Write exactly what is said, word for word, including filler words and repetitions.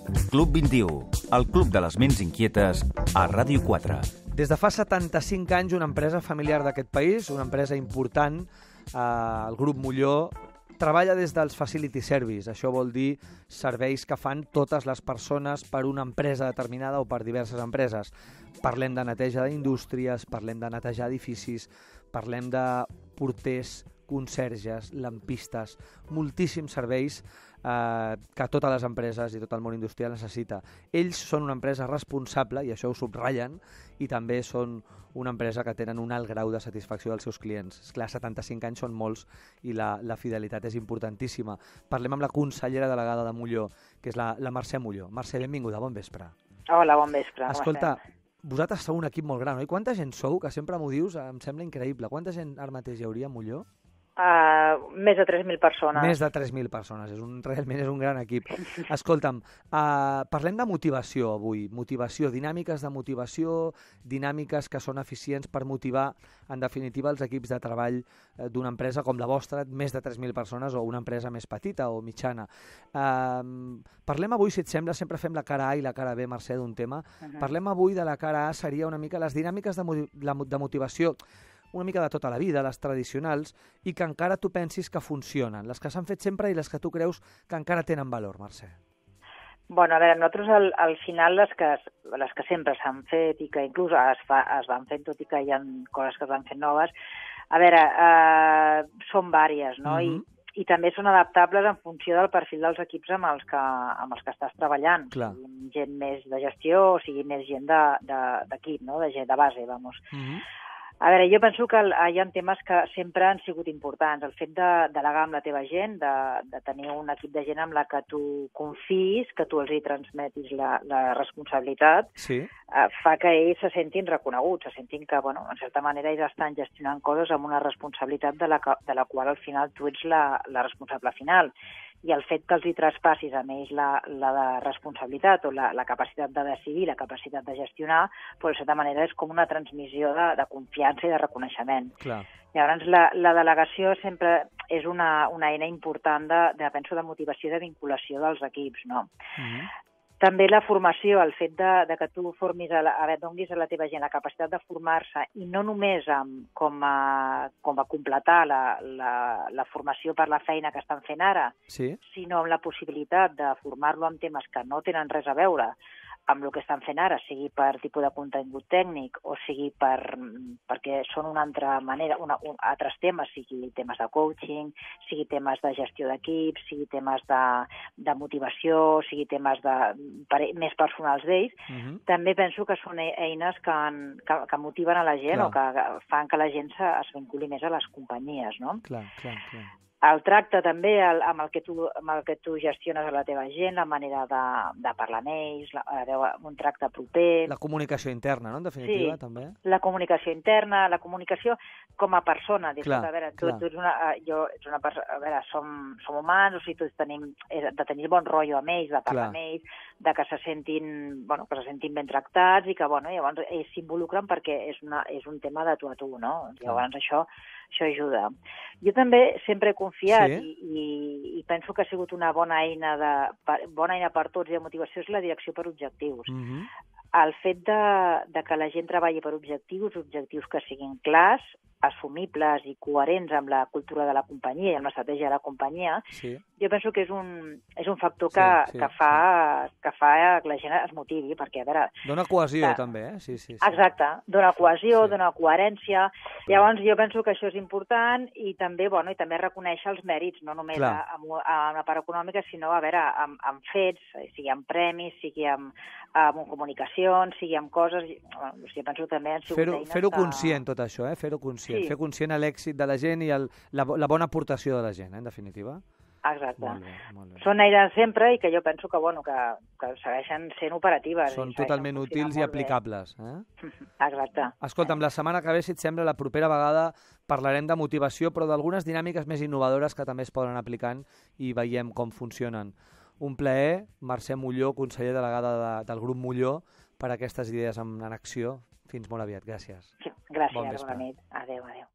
Club vint-i-u, el club de les ments inquietes a Ràdio quatre. Des de fa setanta-cinc anys, una empresa familiar d'aquest país, una empresa important, eh, el Grup Molló, treballa des dels Facility Service. Això vol dir serveis que fan totes les persones per una empresa determinada o per diverses empreses. Parlem de neteja d'indústries, parlem de netejar edificis, parlem de porters, conserges, lampistes, moltíssims serveis eh, que totes les empreses i tot el món industrial necessita. Ells són una empresa responsable, i això ho subratllen, i també són una empresa que tenen un alt grau de satisfacció dels seus clients. Esclar, setanta-cinc anys són molts i la, la fidelitat és importantíssima. Parlem amb la consellera delegada de Molló, que és la, la Mercè Molló. Mercè, benvinguda, bon vespre. Hola, bon vespre. Escolta, vosaltres sou un equip molt gran, oi? Quanta gent sou? Que sempre m'ho dius, em sembla increïble. Quanta gent ara mateix hi hauria a Molló? Uh, més de tres mil persones. Més de tres mil persones, és un, realment és un gran equip. Escolta'm, uh, parlem de motivació avui, motivació, dinàmiques de motivació, dinàmiques que són eficients per motivar, en definitiva, els equips de treball d'una empresa com la vostra, més de tres mil persones, o una empresa més petita o mitjana. Uh, parlem avui, si et sembla, sempre fem la cara A i la cara B, Mercè, d'un tema. Uh -huh. Parlem avui de la cara A, seria una mica les dinàmiques de, de motivació, una mica de tota la vida, les tradicionals, i que encara tu pensis que funcionen, les que s'han fet sempre i les que tu creus que encara tenen valor, Mercè. Bueno, a veure, nosaltres al, al final les que, les que sempre s'han fet i que inclús es, fa, es van fent, tot i que hi ha coses que es van fent noves, a veure, eh, són vàries, no? Uh-huh. I, i també són adaptables en funció del perfil dels equips amb els que, amb els que estàs treballant. Clar. Sigui gent més de gestió o sigui més gent d'equip, no? De gent de base, vamos. Uh-huh. A veure, jo penso que hi ha temes que sempre han sigut importants. El fet de delegar amb la teva gent, de, de tenir un equip de gent amb la que tu confis, que tu els hi transmetis la, la responsabilitat, sí. eh, fa que ells se sentin reconeguts, se sentin que, bueno, en certa manera, ells estan gestionant coses amb una responsabilitat de la, de la qual al final tu ets la, la responsable final. I el fet que els hi traspassis a ells la, la de responsabilitat o la, la capacitat de decidir, la capacitat de gestionar, doncs, de certa manera, és com una transmissió de, de confiança i de reconeixement. Clar. Llavors, la, la delegació sempre és una, una eina important de, de, penso, de motivació i de vinculació dels equips, no? Mm-hmm. També la formació, el fet de, de que tu formis a la, a veure, donis a la teva gent la capacitat de formar-se i no només amb, com, a, com a completar la, la, la formació per la feina que estan fent ara, sí. sinó amb la possibilitat de formar-lo en temes que no tenen res a veure amb el que estan fent ara, sigui per tipus de contingut tècnic o sigui per, perquè són una altra manera, una, un, altres temes, sigui temes de coaching, sigui temes de gestió d'equips, sigui temes de, de motivació, sigui temes de, per, més personals d'ells, uh-huh. també penso que són eines que, que, que motiven a la gent clar. O que fan que la gent se, es vinculi més a les companyies, no? Clar, clar, clar. El tracte també el, amb, el que tu, amb el que tu gestiones a la teva gent, la manera de, de parlar amb ells, la, un tracte proper... La comunicació interna, no?, en definitiva, sí, també. La comunicació interna, la comunicació com a persona. Clar, a veure, tu, clar. tu ets una, jo, ets una persona, a veure, som, som humans, o sigui, tots tenim, de tenir bon rotllo amb ells, de parlar clar. Amb ells, de que se sentin, bueno, que se sentin ben tractats i que, bueno, llavors ells s'involucren perquè és, una, és un tema de tu a tu, no? Llavors clar. això... Això ajuda. Jo també sempre he confiat sí? i, i, i penso que ha sigut una bona eina, de, per, bona eina per tots i de motivació és la direcció per objectius. Mm-hmm. El fet de, de que la gent treballi per objectius, objectius que siguin clars, assumibles i coherents amb la cultura de la companyia i amb l'estratègia de la companyia, sí. jo penso que és un, és un factor que, sí, sí, que, fa, sí. que fa que la gent es motivi, perquè, a veure... Dona cohesió, que, també, eh? Sí, sí, sí. Exacte, dona cohesió, sí. dona coherència. Llavors, jo penso que això és important i també, bueno, i també reconèixer els mèrits, no només amb, amb la part econòmica, sinó, a veure, amb, amb fets, sigui amb premis, sigui amb, amb comunicacions, sigui amb coses... Bueno, jo penso també han sigut fer-ho, eines fer-ho que... conscient, tot això, eh? Fer-ho conscient. Sí. Fer conscient l'èxit de la gent i el, la, la bona aportació de la gent, eh, en definitiva. Exacte. Molt bé, molt bé. Són eines sempre i que jo penso que, bueno, que, que segueixen sent operatives. Són totalment útils i aplicables. Eh? Exacte. Escolta'm, la setmana que ve, si et sembla, la propera vegada parlarem de motivació, però d'algunes dinàmiques més innovadores que també es poden aplicant i veiem com funcionen. Un plaer, Mercè Molló, conseller delegada de, del Grup Molló, per aquestes idees en, en acció. Fins molt aviat. Gràcies. Sí, gràcies, bon bona nit. Adéu, adéu.